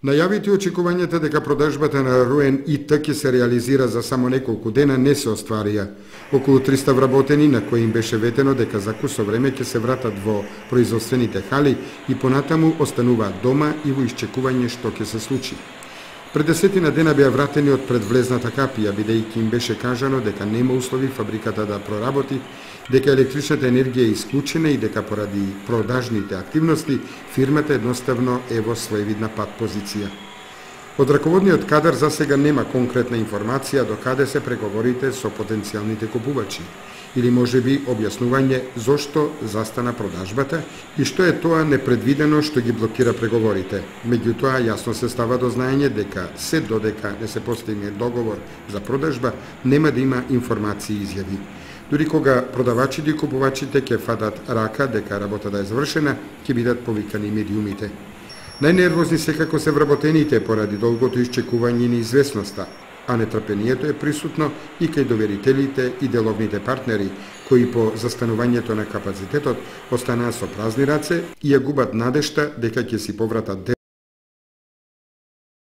Најавите и очекувањата дека продажбата на Руен ИТ ќе се реализира за само неколку дена не се остварија. Околу 300 вработени на кои им беше ветено дека за кусо време ќе се вратат во производствените хали и понатаму остануваат дома и во исчекување што ќе се случи. Пред 10 дена беа вратени од предвлезната капија, бидејќи им беше кажано дека нема услови фабриката да проработи, дека електричната енергија е исклучена и дека поради продажните активности фирмата едноставно е во своевидна пат позиција. Од раководниот кадар за сега нема конкретна информација до каде се преговорите со потенцијалните купувачи, или можеби објаснување зошто застана продажбата и што е тоа непредвидено што ги блокира преговорите. Меѓутоа, јасно се става до знаење дека се додека не се постигне договор за продажба, нема да има информации и изјави. Дури кога продавачите и купувачите ќе фатат рака дека работата е завршена, ќе бидат повикани медиумите. Најнервозни секако се вработените поради долгото исчекување и неизвестноста, а нетрпението е присутно и кај доверителите и деловните партнери, кои по застанувањето на капацитетот останаа со празни раце и ја губат надежта дека ќе си повратат